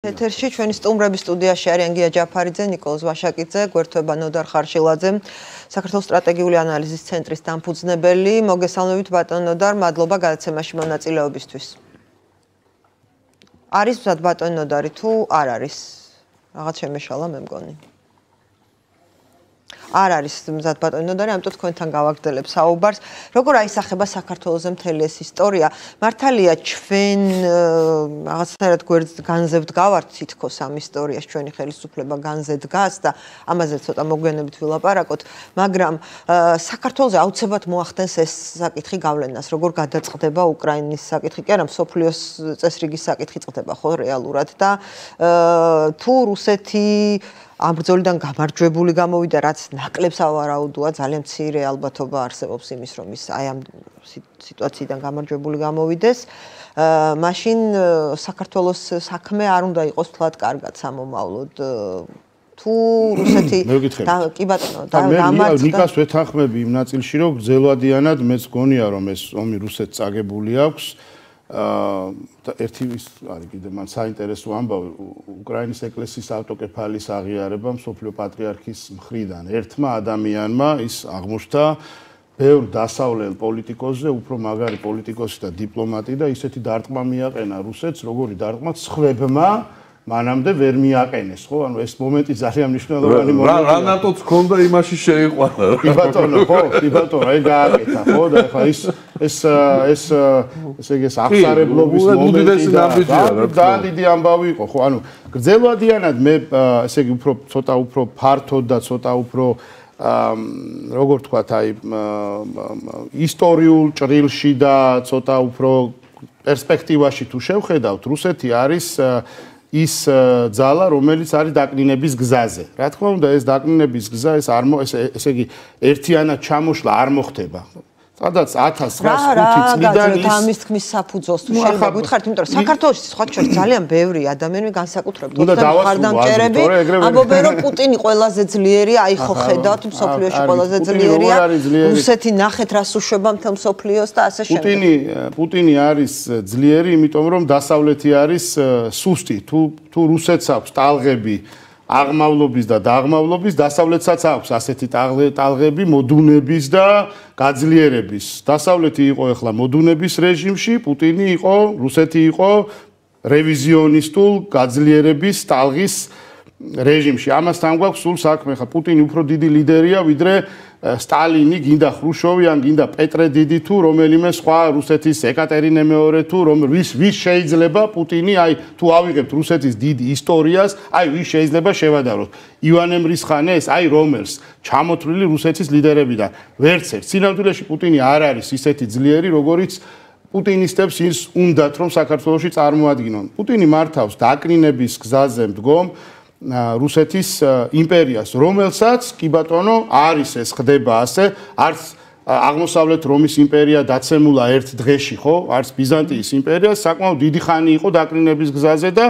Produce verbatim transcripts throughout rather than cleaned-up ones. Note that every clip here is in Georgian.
ეთერში ჩვენი სტუმრების სტუდიაში არიან გია ჯაფარიძე, ნიკოლოზ ვაშაკიძე, გვერდთვება ნოდარ ხარშილაძე, საქართველოს სტრატეგიული ანალიზის ცენტრის დამფუძნებელი. მოგესალმებით ბატონ ნოდარ, მადლობა გადაცემაში მონაწილეობისთვის. არის მზად ბატონ ნოდარი თუ არ არის? რაღაც შემეშალა მე მგონი. არ არის მზად ბატონ ნოდარი, ამიტომ თქვენთან გავაგრძელებ საუბარს. როგორ აისახება საქართველოს მთელი ეს ისტორია? მართალია ჩვენ რაღაცნაირად განზევთ გავართ თითქოს ამ ისტორიას, ჩვენი ხელისუფლება განზე დგას და ამაზე ცოტა მოგვიანებით ვილაპარაკოთ, მაგრამ საქართველოს აუცილებლად მოახდენს ეს საკითხი გავლენას, როგორ გადაწყდება უკრაინის საკითხი, კი არა, მსოფლიოს წესრიგის საკითხი წყდება ხო რეალურად და თუ რუსეთი ამ ბრძოლიდან გამარჯვებული გამოვიდა, რაც ნაკლებს ავარაუდოა, ძალიან მცირე ალბათობა არსებობს იმის, რომ ის აი ამ სიტუაციიდან გამარჯვებული გამოვიდეს. მაშინ საქართველოს საქმე არ უნდა იყოს თლად კარგად სამომავლოდ. თუ რუსეთი კი ბატონო, დამარცხდა. ნიკას ვეთანხმები იმ ნაწილში, რომ გრძელვადიანად მეც გონია, რომ ეს ომი რუსეთს წაგებული აქვს. აა ერთი ის არის კიდე მან საინტერესო ამბავი უკრაინის ეკლესიის ავტოკეფალის აღიარება მსოფლიო პატრიარქის მხრიდან ერთმა ადამიანმა ის აღმოჩნდა ბევრ დასავლელ პოლიტიკოსზე უფრო მაგარი პოლიტიკოსი და დიპლომატი და ისეთი დარტყმა მიაყენა რუსეთს როგორი დარტყმა სხვებმა მანამდე ვერ მიაყენეს ხო ანუ ეს მომენტი ძალიან მნიშვნელოვანი მომენტია რა ნატოც ქონდა იმაში შეიყვანა კი ბატონო ხო კი ბატონო აი გააკეთა ხო და ხა ის ეს ეს ესე იგი აღსარებლობის მომენტი და დიდი ამბავი იყო ხო ანუ გრძელვადიანად მე ესე იგი უფრო ცოტა უფრო ფართოდ და ცოტა უფრო როგორ თქვათ აი ისტორიულ ჭრილში და ცოტა უფრო პერსპექტივაში თუ შევხედავთ რუსეთი არის ის ძალა რომელიც არის დაკნინების გზაზე. რა თქმა უნდა ეს დაკნინების გზა ეს არ ესე იგი ერთიანად ჩამოშლა არ მოხდება. სადაც ათას ცხრაასი წლიდან ის ამის თქმის საფუძველს თუ შეიძლება გითხარით, იმიტომ რომ საქართველოში სხვა შორის ძალიან ბევრი ადამიანი განსაკუთრებით ხარდამჭერები ამბობენ რომ პუტინი ყველაზე ძლიერია, აი ხო ხედავთ მსოფლიოში ყველაზე ძლიერია. რუსეთი ნახეთ რას უშვება მთელ მსოფლიოს და ასე შემდეგ. პუტინი პუტინი არის ძლიერი, იმიტომ რომ დასავლეთი არის სუსტი. თუ თუ რუსეთს აქვს ტალღები აღმავლობის და დაღმავლობის დასავლეთსაც აქვს ასეთი ტალღები მოდუნების და გაძლიერების. დასავლეთი იყო ახლა მოდუნების რეჟიმში, პუტინი იყო, რუსეთი იყო რევიზიონისტულ გაძლიერების ტალღის რეჟიმში. ამასთან გვაქვს სულ საქმე, ხა პუტინი უფრო დიდი ლიდერია, ვიდრე სტალინი, გინდა ხრუშოვი, ან გინდა პეტრე დიდი თუ რომელიმე სხვა რუსეთის ეკატერინე მეორე თუ რომ ვის ვის შეიძლება პუტინი აი თუ ავიღებთ რუსეთის დიდ ისტორიას, აი ვის შეიძლება შევადაროთ. ივანე მრისხანეს, აი რომელს ჩამოთვლილი რუსეთის ლიდერებიდან. ვერც ერთ სინამდვილეში პუტინი არ არის ისეთი ძლიერი, როგორიც პუტინისტებს ის უნდათ რომ საქართველოში წარმოადგინონ. პუტინი მართავს დაკნინების გზაზე მდგომ რუსეთის იმპერიას, რომელსაც კი ბატონო არის ეს ხდება ასე, არც აღმოსავლეთ რომის იმპერია დაცემულა ერთ დღეში, ხო? არც ბიზანტიის იმპერია საკმაოდ დიდი ხანი იყო დაკნინების გზაზე და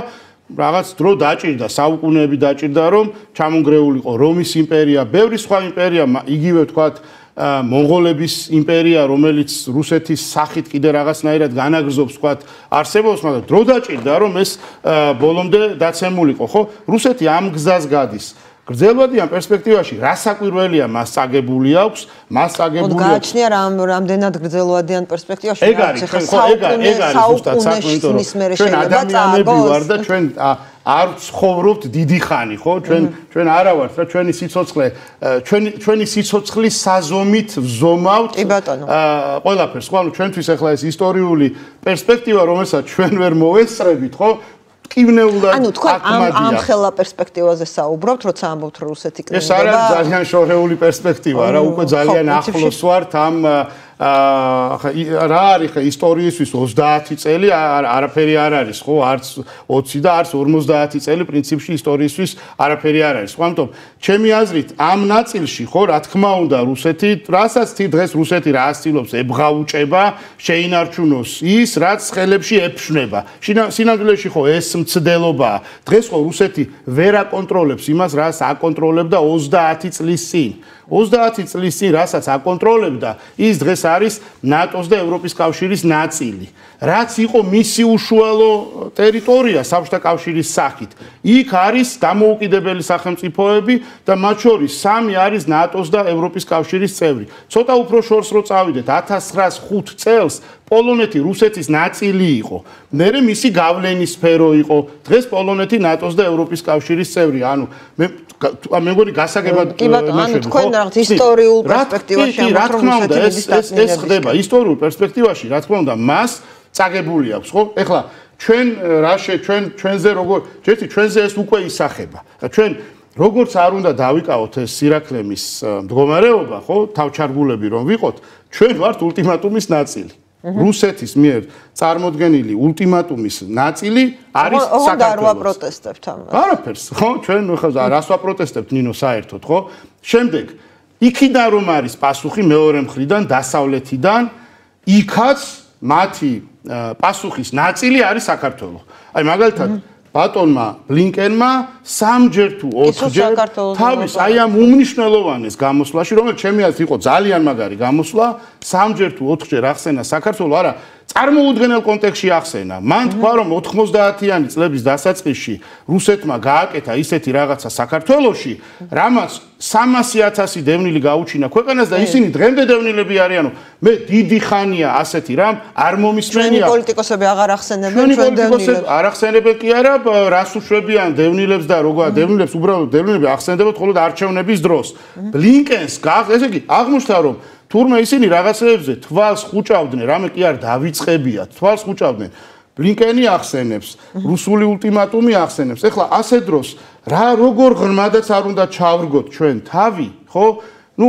რაღაც დრო დაჭირდა, საუკუნეები დაჭირდა, რომ ჩამონგრეულიყო რომის იმპერია, ბევრი სხვა იმპერია, იგივე ვთქვათ მონღოლების იმპერია, რომელიც რუსეთის სახით კიდე რაღაცნაირად განაგრძობს, ვთქვათ, არსებობს, მაგრამ დრო დაჭირდა, რომ ეს ბოლომდე დაცემულიყო, ხო? რუსეთი ამ გზას გადის. გრძელვადიან პერსპექტივაში რა საკვირველია მას წაგებული აქვს, მას წაგებული აქვს. გააჩნია რამ რამდენად გრძელვადიან პერსპექტივაში ეგ არის, ხო, ეგ არის, ეგ არის ზუსტად საქმე, იმიტომ რომ ჩვენ ადამიანები ვარ და ჩვენ არ ცხოვრობთ დიდი ხანი, ხო? ჩვენ ჩვენ არა ვართ რა ჩვენი სიცოცხლე, ჩვენი ჩვენი სიცოცხლის საზომით ვზომავთ ყველაფერს, ხო? ანუ ჩვენთვის ახლა ეს ისტორიული პერსპექტივა, რომელსაც ჩვენ ვერ მოვესწრებით, ხო? კივნეულად ანუ თქვენ ამ ამ ხელა პერსპექტივაზე საუბრობთ, როცა ამბობთ რომ რუსეთი კნინდება. ეს არის ძალიან შორეული პერსპექტივა, რა უკვე ძალიან ახლოს ვართ ამ აა რა არის ხა ისტორიისთვის ოცდაათი წელი არაფერი არ არის, ხო? არც ოცი და არც ორმოცდაათი წელი პრინციპში ისტორიისთვის არაფერი არ არის. ხო, ამიტომ ჩემი აზრით ამ ნაწილში, ხო, რა თქმა უნდა, რუსეთი, რასაც დღეს რუსეთი რა ასწილობს, ებღაუჭება, შეინარჩუნოს ის, რაც ხელებში ეფშნება. სინამდვილეში ხო ეს მცდელობაა. დღეს ხო რუსეთი ვერ აკონტროლებს იმას, რაც აკონტროლებდა ოცდაათი წლის წინ. ოცდაათი წლის წინ, რასაც აკონტროლებდა, ის დღეს არის ნატოს და ევროპის კავშირის ნაწილი. რაც იყო მისი უშუალო ტერიტორია საბჭოთა კავშირის სახით. იქ არის დამოუკიდებელი სახელმწიფოები და მათ შორის სამი არის ნატოს და ევროპის კავშირის წევრი. ცოტა უფრო შორს რო წავიდეთ, ათას ცხრაას ხუთ წელს პოლონეთი რუსეთის ნაწილი იყო. მერე მისი გავლენის სფერო იყო. დღეს პოლონეთი ნატოს და ევროპის კავშირის წევრი. ანუ მე მე მგონი გასაგებად კი ბატონო, ანუ თქვენ რაღაც ისტორიულ პერსპექტივაში ამბობთ, რომ რუსეთის ეს ეს ხდება ისტორიულ პერსპექტივაში, რა თქმა უნდა, მას წაგებული აქვს, ხო? ეხლა ჩვენ რაშე ჩვენ ჩვენზე როგორ ჯერთი ჩვენზე ეს უკვე ისახება. ჩვენ როგორც არ უნდა დავიკავოთ ეს სირაქლემის მდგომარეობა, ხო? თავჩარგულები რომ ვიყოთ, ჩვენ ვართ ულტიმატუმის ნაწილი. რუსეთის მიერ წარმოდგენილი ულტიმატუმის ნაწილი არის საქართველოს. არ ვაპროტესტებთ ამას. არაფერს, ხო? ჩვენ ხა რას ვაპროტესტებთ ნინო საერთოდ, ხო? შემდეგ იქიდან რომ არის პასუხი მეორე მხრიდან, დასავლეთიდან, იქაც მათი პასუხის ნაწილი არის საქართველო. აი მაგალითად ბატონმა ბლინკენმა სამჯერ თუ ოთხჯერ თავის აი ამ უმნიშვნელოვანეს გამოსვლაში, რომელიც ჩემი აზრით იყო ძალიან მაგარი გამოსვლა, სამჯერ თუ ოთხჯერ ახსენა საქართველო, არა, წარმოუდგენელ კონტექსტში ახსენა. მან თქვა, რომ ოთხმოცდაათიანი წლების დასაწყისში რუსეთმა გააკეთა ისეთი რაღაცა საქართველოში, რამაც სამასი ათასი დევნილი გაუჩინა ქვეყანას და ისინი დღემდე დევნილები არიანო. მე დიდი ხანია ასეთი რამ არ მომისმენია. ჩვენი პოლიტიკოსები აღარ ახსენებენ ჩვენ დევნილებს. არ ახსენებენ კი არა, რას უშვებიან დევნილებს და როგორ დევნილებს უბრალოდ დევნილები ახსენდებათ მხოლოდ არჩევნების დროს. ბლინკენს ესე იგი აღმოჩნდა რომ თურმე ისინი რაღაცეებზე თვალს ხუჭავდნენ, რამე კი არ დავიწყებიათ, თვალს ხუჭავდნენ. ბლინკენი ახსენებს, რუსული ულტიმატუმი ახსენებს. ეხლა ასე დროს რა როგორ ღრმადაც არ უნდა ჩავრგოთ ჩვენ თავი, ხო? ნუ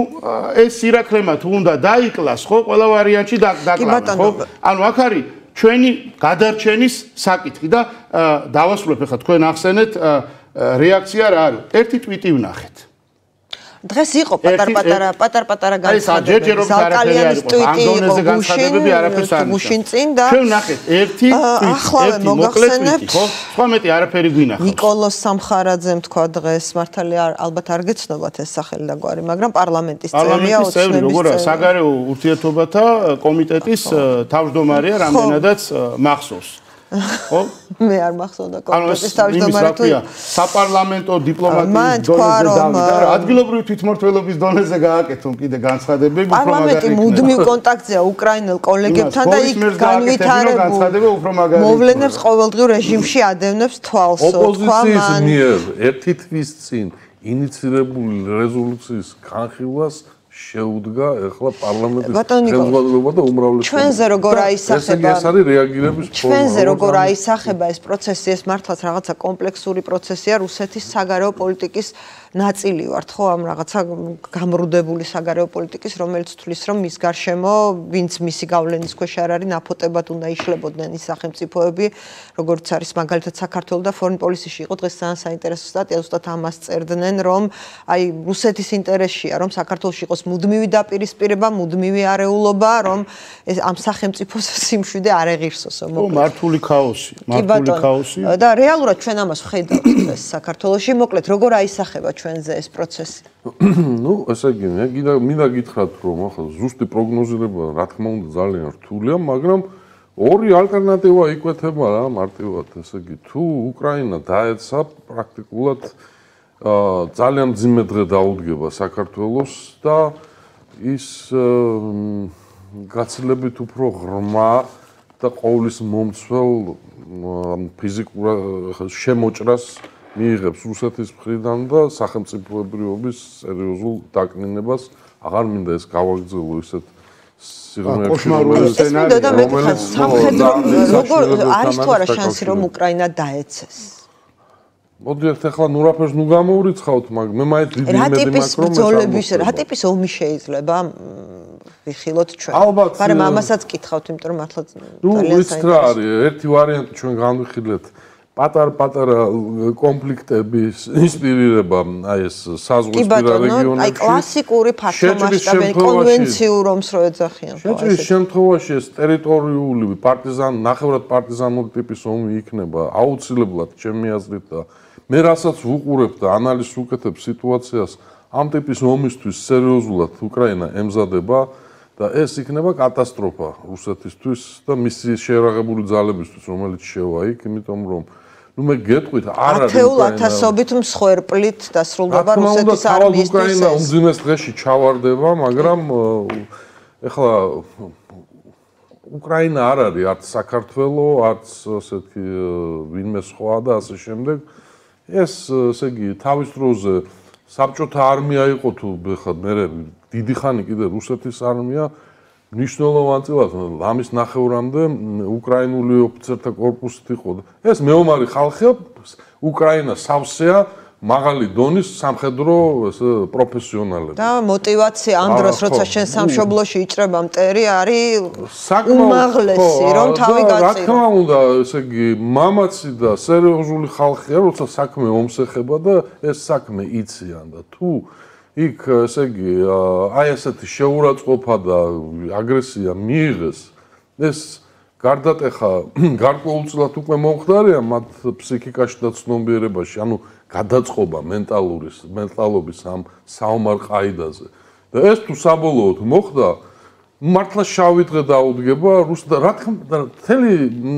ეს სირაქლემა თუ უნდა დაიკლას, ხო? ყველა ვარიანტში დაკლავენ, ხო? ანუ აქ არის ჩვენი გადარჩენის საკითხი და დავასრულებ ეხლა თქვენ ახსენეთ რეაქცია რა არის? ერთი ტვიტი ვნახეთ. დღეს იყო პატარ-პატარა პატარ-პატარა განცხადებები. ზალკალიანის ტვიტი იყო გუშინ, გუშინ წინ და ჩვენ ნახეთ ერთი ახლავე მოგახსენებთ, ხო? სხვა მეტი არაფერი გვინახავს. ნიკოლოს სამხარაძემ თქვა დღეს, მართალია ალბათ არ გეცნობათ ეს სახელი და გვარი, მაგრამ პარლამენტის წევრია, ოცნების როგორ საგარეო ურთიერთობათა კომიტეტის თავმჯდომარეა, რამდენადაც მახსოვს. ხო? მე არ მახსოვდა კონკრეტის თავმჯდომარე თუ საპარლამენტო დიპლომატიის დონეზე დავიდა რა ადგილობრივი თვითმმართველობის დონეზე გააკეთონ კიდე განცხადებები უფრო მაგარი. პარლამენტი მუდმივ კონტაქტზეა უკრაინელ კოლეგებთან და იქ განვითარებულ მოვლენებს ყოველდღიურ რეჟიმში ადევნებს თვალს. ოპოზიციის მიერ ერთი თვის წინ ინიცირებული რეზოლუციის განხილვას შეუდგა ეხლა პარლამენტის ხელმძღვანელობა და უმრავლესობა. ჩვენზე როგორ აისახება ეს არის რეაგირების ფორმა. ჩვენზე როგორ აისახება ეს პროცესი, ეს მართლაც რაღაცა კომპლექსური პროცესია რუსეთის საგარეო პოლიტიკის ნაწილი ვართ, ხო, ამ რაღაცა გამრუდებული საგარეო პოლიტიკის, რომელიც თვლის, რომ მის გარშემო ვინც მისი გავლენის ქვეშ არ არის, ნაფოტებად უნდა იშლებოდნენ ის სახელმწიფოები, როგორც არის მაგალითად საქართველოს და Foreign Policy-ში იყო დღეს ძალიან საინტერესო სტატია, ზუსტად ამას წერდნენ, რომ აი რუსეთის ინტერესშია, რომ საქართველოში იყოს მუდმივი დაპირისპირება, მუდმივი არეულობა, რომ ეს ამ სახელმწიფოს სიმშვიდე არ ეღირსოსო, მოკლედ. მართული ქაოსი, მართული ქაოსი. და რეალურად ჩვენ ამას ვხედავთ დღეს საქართველოში, მოკლედ როგორ აისახება ჩვენზე ეს პროცესი? ნუ, ესე იგი, მე კიდე მინდა გითხრათ, რომ ახლა ზუსტი პროგნოზირება, რა თქმა უნდა, ძალიან რთულია, მაგრამ ორი ალტერნატივა იკვეთება რა, მარტივად, ესე იგი, თუ უკრაინა დაეცა პრაქტიკულად ძალიან მძიმე დღე დაუდგება საქართველოს და ის გაცილებით უფრო ღრმა და ყოვლის მომცველ ფიზიკურ შემოჭრას მიიღებს რუსეთის მხრიდან და სახელმწიფოებრიობის სერიოზულ დაკნინებას. აღარ მინდა ეს გავაგრძელო ისეთ სიღრმეებში, რომელიც სამხედრო როგორ არის თუ არა შანსი რომ უკრაინა დაეცეს? მოდიეთ ახლა ნურაფერს ნუ გამოურიცხავთ, მაგრამ მე მაინც დიდი იმედი მაქვს რომ ბრძოლების რა ტიპის ომი შეიძლება ვიხილოთ ჩვენ. მაგრამ ამასაც კითხავთ, იმიტომ რომ მართლა ძალიან საინტერესოა. ნუ რა არის, ერთი ვარიანტი ჩვენ განვიხილეთ პატარ-პატარა კონფლიქტების ინსპირირება აი ეს საზღვისპირა რეგიონებში. აი კლასიკური ფართომასშტაბიანი კონვენციურ ომს რო ეძახიან. შეჭრის შემთხვევაში ეს ტერიტორიული პარტიზან, ნახევრად პარტიზანული ტიპის ომი იქნება აუცილებლად ჩემი აზრით და მე რასაც ვუყურებ და ანალიზს ვუკეთებ სიტუაციას ამ ტიპის ომისთვის სერიოზულად უკრაინა ემზადება და ეს იქნება კატასტროფა რუსეთისთვის და მისი შეერაღებული ძალებისთვის, რომელიც შევა იქ, იმიტომ რომ ну მე გეტყვით არ არის ათეულ ათასობით მსხვერპლით დასრულდება რუსეთის არმიისთვის. უკრაინა უმძიმეს დღეში ჩავარდება, მაგრამ ეხლა უკრაინა არ არის არც საქართველო, არც ასეთი ვინმე სხვა და ასე შემდეგ. ეს ესე იგი თავის დროზე საბჭოთა არმია იყო თუ ხა მე დიდი ხანი კიდე რუსეთის არმია მნიშვნელოვან წილად ამის ნახევრამდე უკრაინული ოფიცერთა კორპუსით იყო. ეს მეომარი ხალხია, უკრაინა სავსეა მაღალი დონის სამხედრო პროფესიონალები. და мотиваცია ამ დროს როცა შენ სამშობლოში იჭრება მტერი არის უმაღლესი რომ თავი გაწირო. რა თქმა უნდა, ესე იგი მამაცი და სერიოზული ხალხია, როცა საქმე ომს ეხება და ეს საქმე იციან და თუ იქ ესე იგი აი ესეთი შეურაცხყოფა და აგრესია მიიღეს, ეს გარდატეხა გარკვეულწილად უკვე მომხდარია მათ ფსიქიკაში და ცნობიერებაში, ანუ გადაწყობა მენტალურის მენტალობის ამ საომარ ყაიდაზე. და ეს თუ საბოლოოდ მოხდა, მართლა შავი დღე დაუდგება რუს და რა თქმა უნდა, მთელი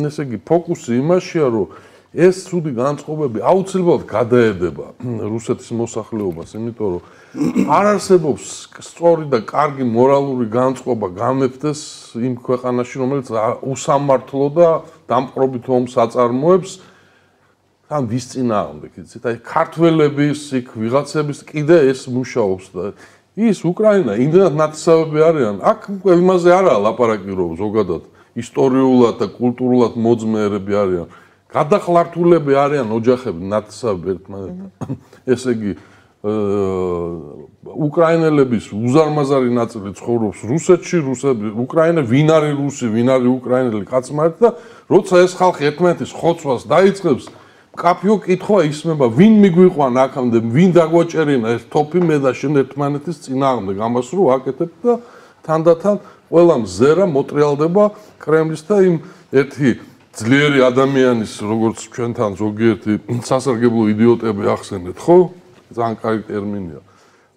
ესე იგი ფოკუსი იმაშია, რომ ეს ცუდი განწყობები აუცილებლად გადაედება რუსეთის მოსახლეობას, იმიტომ რომ არ არსებობს სწორი და კარგი მორალური განწყობა გამეფდეს იმ ქვეყანაში, რომელიც უსამართლო და დამპყრობით ომს აწარმოებს. თან ვის წინააღმდეგ, იცით? აი ქართველების, იქ ვიღაცების კიდე ეს მუშაობს და ის უკრაინა იმდენად ნათესავები არიან, აქ უკვე იმაზე არაა ლაპარაკი, რომ ზოგადად ისტორიულად და კულტურულად მოძმეერები არიან. გადახლართულები არიან ოჯახები ნათესავები ერთმანეთთან. ესე იგი უკრაინელების უზარმაზარი ნაწილი ცხოვრობს რუსეთში, რუსები, უკრაინა ვინ არის რუსი, ვინ არის უკრაინელი კაცმართ და როცა ეს ხალხი ერთმანეთის ხოცვას დაიწყებს, კაფიო კითხვა ისმება, ვინ მიგვიყვან აქამდე, ვინ დაგვაჭერინა ეს თოფი მე და შენ ერთმანეთის წინააღმდეგ, ამას რო აკეთებ და თანდათან ყველა მზერა მოტრიალდება კრემლის და იმ ერთი ძლიერი ადამიანის, როგორც ჩვენთან ზოგიერთი სასარგებლო იდიოტები ახსენეთ, ხო? ძალიან კარგი ტერმინია.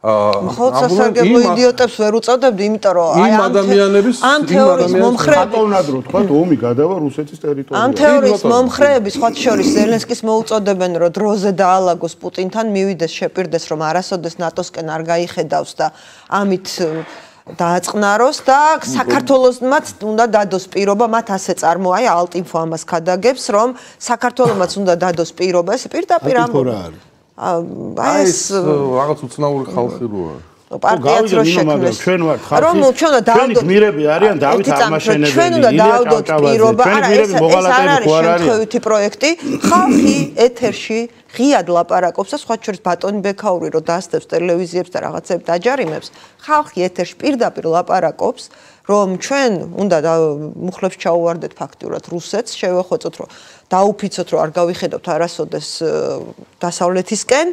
ხო, სასარგებლო იდიოტებს ვერ უწოდებდი, იმიტომ რომ აი ამ ადამიანების ამ თეორიის მომხრეები ატოვნადრო თქვა ომი გადავა რუსეთის ტერიტორიაზე. ამ თეორიის მომხრეები სხვა შორის ზელენსკის მოუწოდებენ, რომ დროზე დაალაგოს პუტინთან, მივიდეს შეპირდეს, რომ არასოდეს ნატოსკენ არ გაიხედავს და ამით დააწყნაროს და საქართველოსმაც უნდა დადოს პირობა, მათ ასე წარმოა, აი ალტინფო ამას გადაგებს, რომ საქართველოსმაც უნდა დადოს პირობა, ეს პირდაპირ ამბობ. აი ეს რაღაც უცნაური ხალხი როა. პარტიაც რო შექმნეს. ჩვენ ვართ ხალხი. რომ ჩვენ უნდა დაავდოთ გმირები არიან დავით აღმაშენებელი. ჩვენ უნდა დაავდოთ პირობა, არა ეს ეს არ არის შემთხვევითი პროექტი. ხალხი ეთერში ღიად ლაპარაკობს და სხვა შორის ბატონი ბექაური რო დაასწრებს ტელევიზიებს და რაღაცებს დაჯარიმებს. ხალხი ეთერში პირდაპირ ლაპარაკობს, რომ ჩვენ უნდა მუხლებს ჩაუვარდეთ ფაქტურად რუსეთს, შევეხოცოთ, რომ დაუფიცოთ, რომ არ გავიხედავთ არასოდეს დასავლეთისკენ.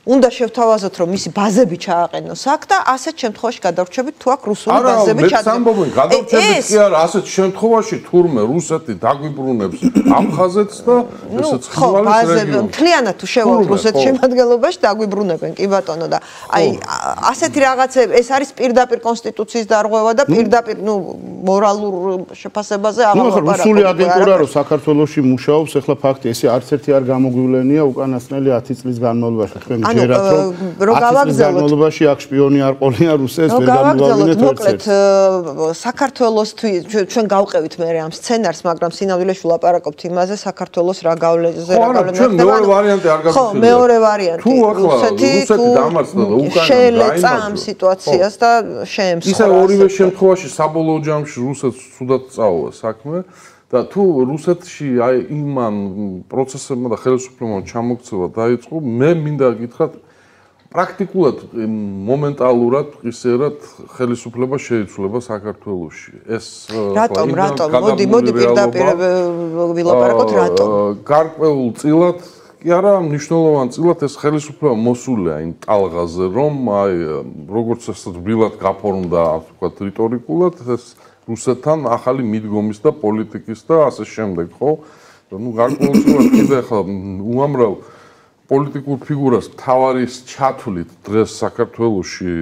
უნდა შევთავაზოთ, რომ მისი ბაზები ჩააყენოს აქ და ასეთ შემთხვევაში გადავრჩებით თუ აქ რუსული ბაზები ჩადგება. არა, მე სამბობენ, გადავრჩებით კი არა, ასეთ შემთხვევაში თურმე რუსეთი დაგვიბრუნებს აფხაზეთს და ესეც ხივალის რეგიონს. მთლიანად თუ შევალთ რუსეთის შემადგენლობაში დაგვიბრუნებენ, კი ბატონო და აი ასეთი რაღაცები, ეს არის პირდაპირ კონსტიტუციის დარღვევა და პირდაპირ, ნუ მორალურ შეფასებაზე აღარ ლაპარაკობ. ნუ რუსული აგენტურა რო საქართველოში მუშაობს, ახლა ფაქტი ესე არც ერთი არ გამოგვივლენია უკანასკნელი ათი წლის განმავლობაში. თქვენ ანუ რო გავაგზავნოთ განმავლობაში აქ შპიონი არ ყოლია რუსეთს ვერ გამოვავინეთ მოკლედ საქართველოს ჩვენ გავყევით მე ამ სცენარს, მაგრამ სინამდვილეში ვლაპარაკობთ იმაზე საქართველოს რა გავლენაზე რა გავლენა ჩვენ მეორე ვარიანტი არ გაგხვდება. ხო, მეორე ვარიანტი. რუსეთი დამარცხდა და უკრაინა შეელეცა ამ სიტუაციას და შეემსხვრა. ისა ორივე შემთხვევაში საბოლოო ჯამში რუსეთს ცუდად წაუვა საქმე. და თუ რუსეთში აი იმან პროცესებმა და ხელისუფლებამ ჩამოქცევა დაიწყო, მე მინდა გითხრათ პრაქტიკულად მომენტალურად ისერად ხელისუფლება შეიცვლება საქართველოში. ეს რატომ, რატომ? მოდი, მოდი პირდაპირ ვილაპარაკოთ რატომ? გარკვეულ წილად კი არა, მნიშვნელოვან წილად ეს ხელისუფლება მოსულია იმ ტალღაზე, რომ აი როგორც ესეთ ბილად გაფორმდა, ვთქვათ, რიტორიკულად ეს რუსეთთან ახალი მიდგომის და პოლიტიკის და ასე შემდეგ, ხო? ნუ გარკვეულწილად კიდე ახლა უამრავ პოლიტიკურ ფიგურას თავარის ჩათვლით დღეს საქართველოში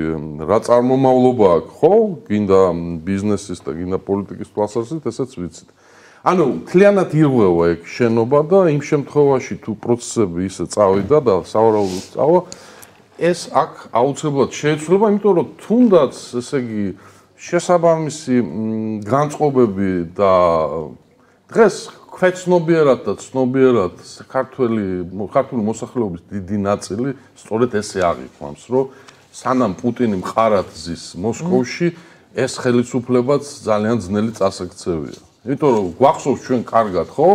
რა წარმომავლობა აქვს, ხო? გინდა ბიზნესის და გინდა პოლიტიკის თვალსაზრისით, ესეც ვიცით. ანუ მთლიანად ირღვევა ეგ შენობა და იმ შემთხვევაში თუ პროცესები ისე წავიდა და სავარაუდოდ წავა, ეს აქ აუცილებლად შეეცვლება, იმიტომ რომ თუნდაც, ესე იგი, შესაბამისი განწყობები და დღეს ქვეცნობიერად და ცნობიერად საქართველი ქართული მოსახლეობის დიდი ნაწილი სწორედ ესე აღიქვამს, რომ სანამ პუტინი მყარად ზის მოსკოვში, ეს ხელისუფლებაც ძალიან ძნელი წასაქცევია. იმიტომ რომ გვახსოვს ჩვენ კარგად, ხო?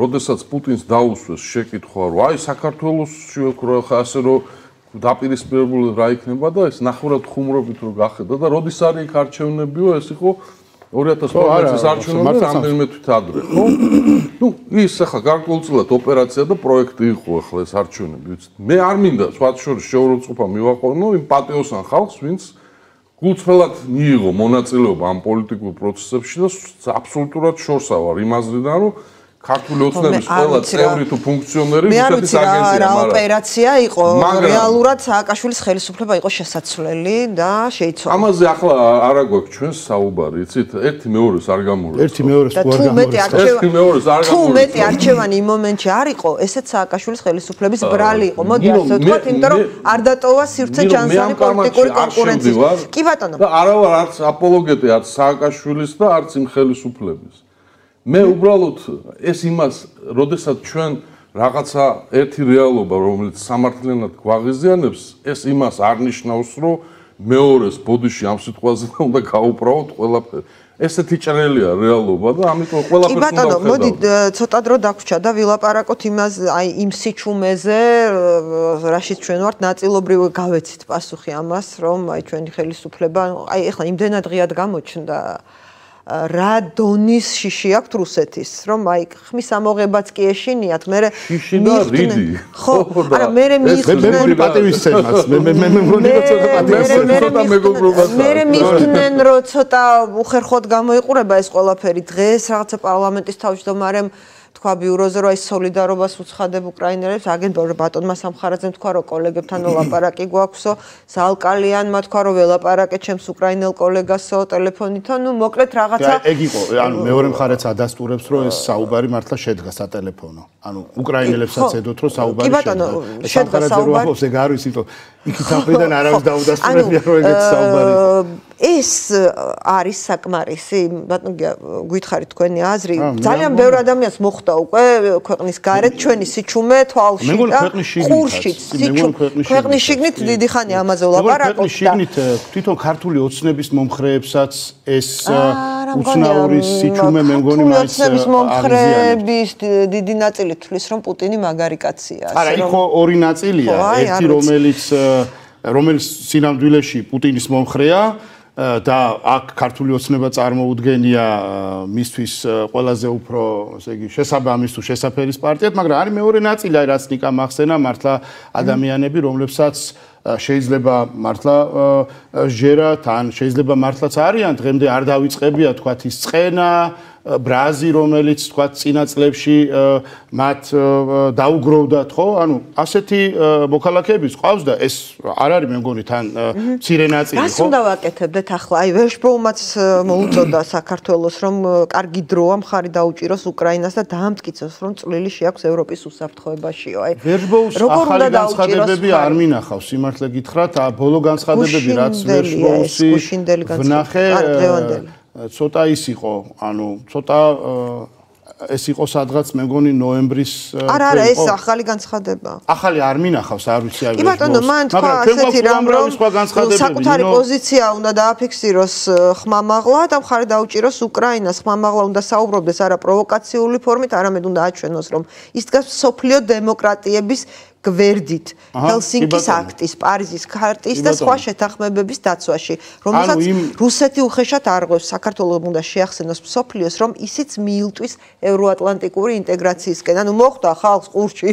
როდესაც პუტინს დაუსვეს შეკითხვა, რომ აი საქართველოსში ხო ასე რომ დაპირისპირებული რა იქნება და ეს ნახევრად ხუმრობით რო გახედა და როდის არის იქ არჩევნებიო, ეს იყო ორი ათას თორმეტი წლის არჩევნები რამდენიმე თვით ადრე, ხო? ნუ ის ახლა გარკვეულწილად ოპერაცია და პროექტი იყო ახლა ეს არჩევნები, ვიცით. მე არ მინდა სხვათა შორის შეურაცხყოფა მივაყენო იმ პატიოსან ხალხს, ვინც გულწრფელად მიიღო მონაწილეობა ამ პოლიტიკურ პროცესებში და აბსოლუტურად შორსა ვარ იმ აზრიდან, რომ ქართული ოცნების ყველა წევრი თუ ფუნქციონერი რუსეთის აგენტია, რა ოპერაცია იყო, რეალურად სააკაშვილის ხელისუფლება იყო შესაცვლელი და შეიცვალა. ამაზე ახლა არა გვაქვს ჩვენს საუბარი, იცით, ერთი მეორეს არ გამორევს. ერთი მეორეს თუ არ გამორევს. ერთი მეორეს არ გამორევს. თუ მეტი არჩევანი იმ მომენტში არ იყო, ესეც სააკაშვილის ხელისუფლების ბრალი იყო. მოდი ასე ვთქვათ, იმიტომ რომ არ დატოვა სივრცე ჯანსაღი პოლიტიკური კონკურენციის. კი ბატონო. და არა ვარ არც აპოლოგეტი არც სააკაშვილის და არც იმ ხელისუფლების. მე უბრალოდ ეს იმას, როდესაც ჩვენ რაღაცა ერთი რეალობა, რომელიც სამართლიანად გვაღიზიანებს, ეს იმას არ ნიშნავს, რომ მეორეს ბოდიში ამ სიტყვაზე უნდა გაუправოთ ყველაფერი. ესეთი ჭრელია რეალობა და ამიტომ ყველაფერს უნდა ვხედავთ. კი ბატონო, მოდი ცოტა დრო დაგვრჩა და ვილაპარაკოთ იმას, აი იმ სიჩუმეზე, რაშიც ჩვენ ვართ ნაწილობრივ გავეცით პასუხი ამას, რომ აი ჩვენი ხელისუფლება, აი ეხლა იმდენად ღიად გამოჩნდა რა დონის შიში აქვს რუსეთის, რომ აი ხმის ამოღებაც კი ეშინიათ, მე შიში და რიდი. ხო, არა, მე მიხდნენ მე მე პატივისცემას, მე მე მე მგონი რომ ცოტა პატივისცემას. მე მიხდნენ რომ ცოტა უხერხოდ გამოიყურება ეს ყველაფერი დღეს რაღაცა პარლამენტის თავმჯდომარემ თქვა ბიუროზე რომ აი სოლიდარობას უცხადებ უკრაინელებს, აგენტ ბატონმა სამხარაძემ თქვა რომ კოლეგებთან ვლაპარაკი გვაქვსო, ზალკალიანმა თქვა რომ ველაპარაკე ჩემს უკრაინელ კოლეგასო ტელეფონითო, ნუ მოკლედ რაღაცა. ეგ იყო, ანუ მეორე მხარეც ადასტურებს რომ ეს საუბარი მართლა შედგა სატელეფონო. ანუ უკრაინელებსაც ედოთ რომ საუბარი შედგა. შედგა საუბარი. ეგ არ ვიცი, იმიტომ იქით აფრიდან არავის დაუდასტურებია რომ ეგეთი საუბარი იყო. ეს არის საკმარისი, ბატონო გითხარით თქვენი აზრი, ძალიან ბევრ ადამიანს მოხდა უკვე ქვეყნის გარეთ ჩვენი სიჩუმე თვალში და ყურშიც ქვეყნის შიგნით დიდი ხანი ამაზე ვლაპარაკობ და შიგნით თვითონ ქართული ოცნების მომხრეებსაც ეს უცნაური სიჩუმე მე მგონი მაინც ოცნების მომხრეების დიდი ნაწილი თვლის რომ პუტინი მაგარი კაცია. არა, იქ ორი ნაწილია, ერთი რომელიც რომელიც სინამდვილეში პუტინის მომხრეა და აქ ქართული ოცნება წარმოუდგენია მისთვის ყველაზე უფრო, ესე იგი, შესაბამის თუ შესაფერის პარტიად, მაგრამ არის მეორე ნაწილი, აი რაც ნიკა მახსენა, მართლა ადამიანები, რომლებსაც შეიძლება მართლა ჟერათ, ან შეიძლება მართლაც არიან, დღემდე არ დავიწყებია თქვათ ის წყენა, ბრაზი, რომელიც თქვათ წინა წლებში მათ დაუგროვდათ, ხო? ანუ ასეთი მოქალაქეებიც ყავს და ეს არ არის მე მგონი თან მცირე ნაწილი, ხო? რას უნდა ვაკეთებდეთ ახლა? აი ვერშბოუმაც მოუწოდა საქართველოს, რომ კარგი დროა მხარი დაუჭიროს უკრაინას და დაამტკიცოს, რომ წვლილი შეაქვს ევროპის უსაფრთხოებაშიო. აი ვერშბოუს ახალი განცხადებები არ მინახავს, სიმართლე გითხრათ, ბოლო განცხადებები რაც ვერშბოუსი ვნახე ცოტა ის იყო, ანუ ცოტა ეს იყო სადღაც მე მგონი ნოემბრის არა არა ეს ახალი განცხადება. ახალი არ მინახავს, არ ვიცი აი კი ბატონო, მან თქვა ასეთი რამ რომ საკუთარი პოზიცია უნდა დააფიქსიროს ხმამაღლა და მხარი დაუჭიროს უკრაინას, ხმამაღლა უნდა საუბრობდეს არა პროვოკაციული ფორმით, არამედ უნდა აჩვენოს რომ ის დგას სოფლიო დემოკრატიების გვერდით ჰელსინკის აქტის, პარიზის ქარტის და სხვა შეთანხმებების დაცვაში, რომელსაც რუსეთი უხეშად არღვევს, საქართველოს უნდა შეახსენოს მსოფლიოს, რომ ისიც მიილტვის ევროატლანტიკური ინტეგრაციისკენ. ანუ მოხდა ხალხს ყურში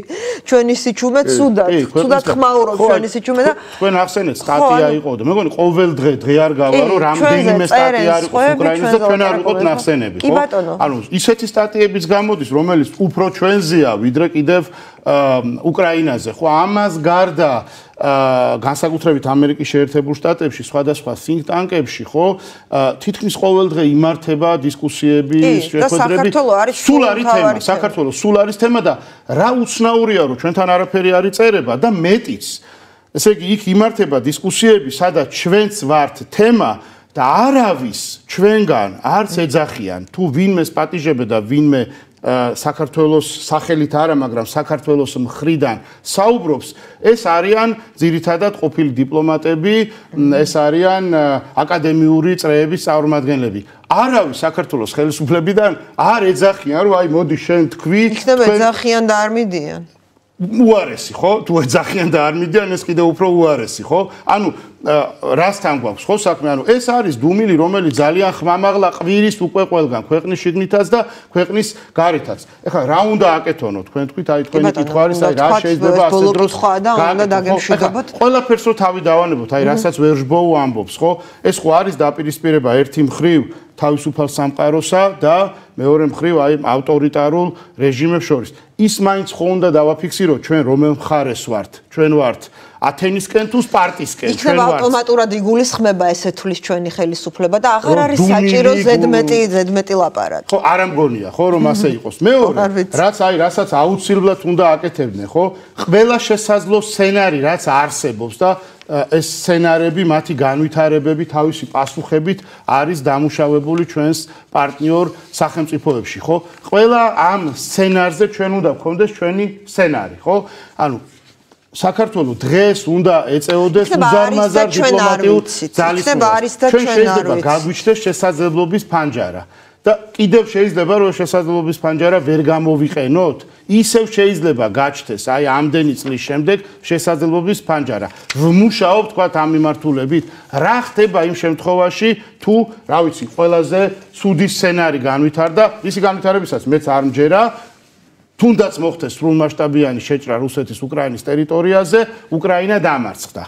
ჩვენი სიჩუმე ცუდად, ცუდად ხმაურობს ჩვენი სიჩუმე და თქვენ ახსენეთ სტატია იყო და მე მგონი ყოველ დღე დღე არ გავა, რომ რამდენიმე სტატია არის უკრაინაზე და ჩვენ არ ვიყოთ ნახსენები, ხო? ანუ ისეთი სტატიებიც გამოდის, რომელიც უფრო ჩვენზეა, ვიდრე კიდევ უკრაინაზე, ხო, ამას გარდა განსაკუთრებით ამერიკის შეერთებულ შტატებში, სხვადასხვა think tank-ებში, ხო, თითქმის ყოველდღე იმართება დისკუსიები, შეხვედრები. სულ არის თემა, საქართველოს სულ არის თემა და რა უცნაურია, რომ ჩვენთან არაფერი არ იწერება და მეტიც. ესე იგი, იქ იმართება დისკუსიები, სადაც ჩვენც ვართ თემა და არავის ჩვენგან არც ეძახიან, თუ ვინმეს პატიჟებდა და ვინმე საქართველოს სახელით არა, მაგრამ საქართველოს მხრიდან საუბრობს, ეს არიან ძირითადად ყოფილი დიპლომატები, ეს არიან აკადემიური წრეების წარმომადგენლები. არავის საქართველოს ხელისუფლებიდან არ ეძახიან, რომ აი მოდი შენ თქვი, იქნება ეძახიან და არ მიდიან. უარესი, ხო? თუ ეძახიან და არ მიდიან, ეს კიდევ უფრო უარესი, ხო? ანუ რასთან გვაქვს ხო საქმე? ანუ ეს არის დუმილი, რომელიც ძალიან ხმამაღლა ყვირის უკვე ყველგან, ქვეყნის შიგნითაც და ქვეყნის გარეთაც. ეხლა რა უნდა აკეთონო თქვენ თქვით, აი თქვენი კითხვა არის, აი რა შეიძლება ასე დროს უნდა დაგემშვიდობოთ. ყველაფერს რო თავი დავანებოთ, აი რასაც ვერჟბოუ ამბობს, ხო? ეს ხო არის დაპირისპირება ერთი მხრივ თავისუფალ სამყაროსა და მეორე მხრივ აი ავტორიტარულ რეჟიმებს შორის. ის მაინც ხო უნდა დავაფიქსიროთ ჩვენ რომელ მხარეს ვართ? ჩვენ ვართ ათენისკენ თუ სპარტისკენ? ჩვენ ვართ. ავტომატურად იგულისხმება ესე თulis ჩვენი ხელისუფლება და აღარ არის საჭირო ზედმეტი ზედმეტი ლაპარაკი. ხო, არ ამგონია, ხო, რომ ასე იყოს. მეორე, რაც აი, რასაც აუცილებლად უნდა აკეთებდნენ, ხო? ყველა შესაძლო სცენარი, რაც არსებობს და ეს სცენარები, მათი განვითარებები თავისი პასუხებით არის დამუშავებული ჩვენს პარტნიორ სახელმწიფოებში, ხო? ყველა ამ სცენარზე ჩვენ უნდა გქონდეს ჩვენი სცენარი, ხო? ანუ საქართველოს დღეს უნდა ეწეოდეს უზარმაზარ დიპლომატიურ ძალისხმევას. ჩვენ შეიძლება გაგვიჩნდეს შესაძლებლობის ფანჯარა და კიდევ შეიძლება რომ შესაძლებლობის ფანჯარა ვერ გამოვიყენოთ, ისევ შეიძლება გაჩნდეს აი ამდენი წლის შემდეგ შესაძლებლობის ფანჯარა. ვმუშაობ თქვათ ამ მიმართულებით, რა ხდება იმ შემთხვევაში თუ, რა ვიცი, ყველაზე ცუდი სცენარი განვითარდა, ისი განვითარებისაც მეც არ მჯერა, თუნდაც მოხდეს სრულმასშტაბიანი შეჭრა რუსეთის უკრაინის ტერიტორიაზე, უკრაინა დამარცხდა.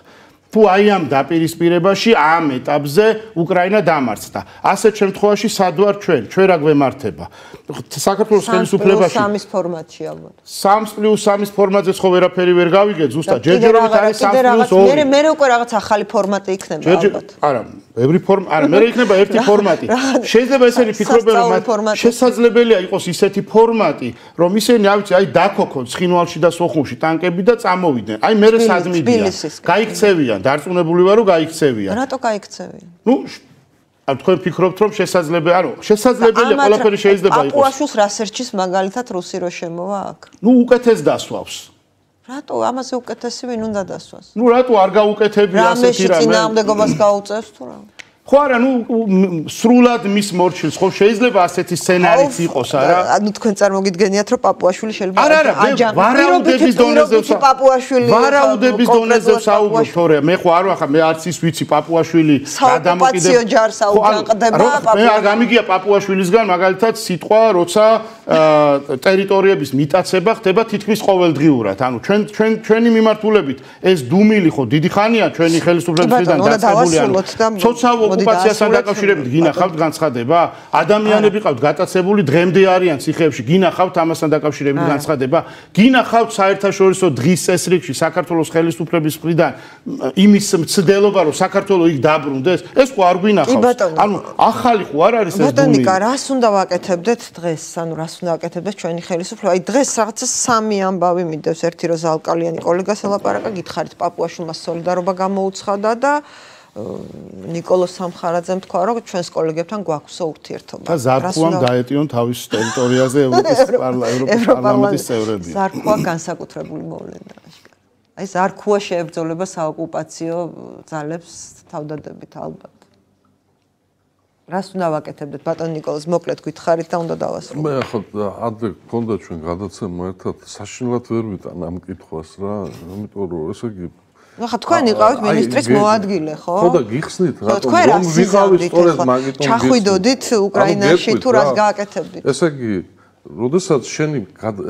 თუ აი ამ დაპირისპირებაში, ამ ეტაპზე უკრაინა დამარცხდა. ასეთ შემთხვევაში სად ვარ ჩვენ? ჩვენ რა გვემართება? საქართველოს ხელისუფლებაში სამის ფორმატში ალბათ. სამს პლუს სამის ფორმატზე ხო ვერაფერი ვერ გავიგეთ, ზუსტად ჯერჯერობით არის სამს პლუს ორი. მე მე უკვე რაღაც ახალი ფორმატი იქნება ალბათ. არა, ბევრი ფორმა, არა, მე იქნება ერთი ფორმატი. შეიძლება ესენი ფიქრობენ, რომ შესაძლებელია იყოს ისეთი ფორმატი, რომ ისინი, აი ვიცი, აი დაქოქონ ცხინვალში და სოხუმში ტანკები და წამოვიდნენ. აი მე სად მიდიან? გაიქცევიან, დარწმუნებული ვარ, რომ გაიქცევიან. რატო გაიქცევიან? ნუ ან თქვენ ფიქრობთ, რომ შესაძლებელია, ანუ შესაძლებელია ყველაფერი შეიძლება იყოს. პაპუაშვილს რასერჩის მაგალითად რუსი რო შემოვა აქ? ნუ უკეთეს დასვავს. რატო ამაზე უკეთესი ვინ უნდა დასვას? ნუ რატო არ გაუკეთებია ასეთი რამე? რამეში წინააღმდეგობას გაუწევს თუ რა? ხო არა, ნუ სრულად მის მორჩილს ხო შეიძლება ასეთი სცენარიც იყოს, არა? ანუ თქვენ წარმოგიდგენიათ, რომ პაპუაშვილი შეიძლება არა, არა, ვარაუდების დონეზე პაპუაშვილი ვარაუდების დონეზე საუბრობ, თორე მე ხო არ ვახარ, მე არც ის ვიცი პაპუაშვილი რა დამოკიდებია ჯარს აუჯანყდება პაპუაშვილი. მე არ გამიგია პაპუაშვილისგან მაგალითად სიტყვა, როცა ტერიტორიების მიტაცება ხდება თითქმის ყოველდღიურად. ანუ ჩვენ ჩვენ ჩვენი მიმართულებით ეს დუმილი ხო დიდი ხანია ჩვენი ხელისუფლებისგან დაწყებული, ანუ ცოცხალ ოკუპაციასთან დაკავშირებით გინახავთ განცხადება? ადამიანები ყავთ გატაცებული, დღემდე არიან ციხეებში, გინახავთ ამასთან დაკავშირებით განცხადება? გინახავთ საერთაშორისო დღის წესრიგში საქართველოს ხელისუფლების მხრიდან იმის მცდელობა, რომ საქართველოს იქ დაბრუნდეს? ეს ხო არ გვინახავს. ანუ ახალი ხო არ არის ეს დუმილი? ბატონიკა, რას უნდა ვაკეთებდეთ დღეს? ანუ რას უნდა ვაკეთებდეთ ჩვენი ხელისუფლება? აი დღეს რაღაცა სამი ამბავი მიდევს, ერთი რომ ზალკალიანი კოლეგას ელაპარაკა, გითხარით პაპუაშვილმა სოლიდარობა გამოუცხადა და ნიკოლოზ სამხარაძემ თქვა, რომ ჩვენს კოლეგებთან გვაქვსო ურთიერთობა. და ზარქუამ დაეტიონ თავის ტერიტორიაზე ევროპის პარლამენტის წევრები. ზარქუა განსაკუთრებული მოვლენა. აი ზარქუა შეებრძოლება საოკუპაციო ძალებს თავდადებით ალბათ. რას უნდა ვაკეთებდეთ ბატონ ნიკოლოზ, მოკლედ გითხარით და უნდა დავასრულო. მე ახლა ადრე გქონდა ჩვენ გადაცემა ერთად, საშინლად ვერ ვიტან ამ კითხვას რა, ამიტომ რომ ესე იგი ახლა თქვენ იყავით მინისტრის მოადგილე, ხო? ხო და გიხსნით, რატომ რომ ვიყავით სწორედ მაგიტომ ჩახვიდოდით უკრაინაში თუ რას გააკეთებდით? ესე იგი, როდესაც შენი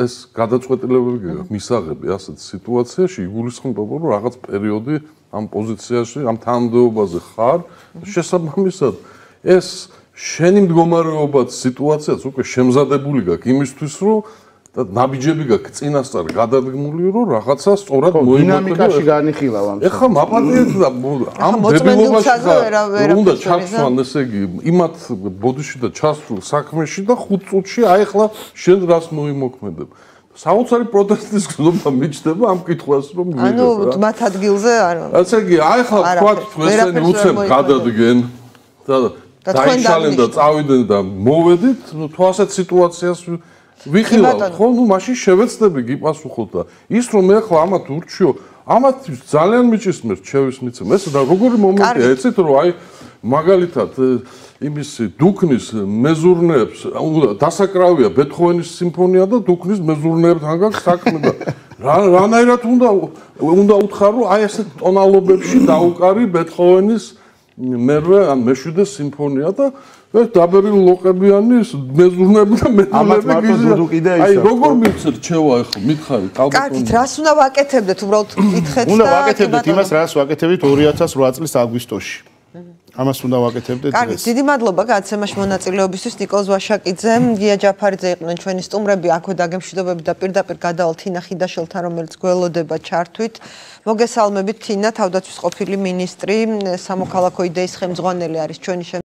ეს გადაწყვეტილებები გაქვს მისაღები ასეთ სიტუაციაში, იგულისხმება, რომ რაღაც პერიოდი ამ პოზიციაში, ამ თანამდებობაზე ხარ, შესაბამისად ეს შენი მდგომარეობაც სიტუაციაც უკვე შემზადებული გაქვს იმისთვის, რომ და ნაბიჯები გაქვს წინასწარ გადადგმული, რომ რაღაცა სწორად მოიმოქმედო. დინამიკაში განიხილავ ამ. ეხლა მაპატიეთ და ამ დებილობაში უნდა ჩასვან, ესე იგი, იმათ ბოდიში და ჩასულ საქმეში და ხუთ წუთში აი ეხლა შენ რას მოიმოქმედებ. საოცარი პროტესტის გზნობა მიჩნდება ამ კითხვას რომ მივიღებ. ანუ მათ ადგილზე არ. ასე იგი, აი ეხლა თქვათ თუ ესენი უცებ გადადგენ და დაიშალენ და წავიდნენ და მოვედით, ნუ თუ ასეთ სიტუაციას ვიხილავთ, ხო, ნუ მაშინ შევეცდები გიპასუხოთ და ის რომ მე ახლა ამათ ურჩიო, ამათ ძალიან მიჭისმერთ შევის მიცემ. ეს და როგორი მომენტია, ეცეთ რომ აი მაგალითად იმის დუქნის მეზურნეებს დასაკრავია ბეთჰოვენის სიმფონია და დუქნის მეზურნეებთან გაქვს საქმე და რანაირად უნდა უნდა უთხრა რომ აი ესეთ ტონალობებში დაუკარი ბეთჰოვენის მერვე ან მეშვიდე სიმფონია და ეს დაბერილი ლოყებიანი მეზურნეები და მეზურნეები აი როგორ მივცეთ ჩევა ახლა მითხარი ალბათ კარგით რას უნდა ვაკეთებდეთ უბრალოდ კითხეთ და უნდა ვაკეთებდეთ იმას რაც ვაკეთებდით ორი ათას ოთხ წლის აგვისტოში ამას უნდა ვაკეთებდეთ დღეს. კარგი, დიდი მადლობა გადაცემაში მონაწილეობისთვის ნიკოლოზ ვაშაკიძე, გია ჯაფარიძე იყვნენ ჩვენი სტუმრები, აქვე დაგემშვიდობები და პირდაპირ გადავალ თინა ხიდაშელთან, რომელიც გველოდება ჩართვით. მოგესალმებით თინა, თავდაცვის ყოფილი მინისტრი, სამოქალაქო იდეის ხელმძღვანელი არის ჩვენი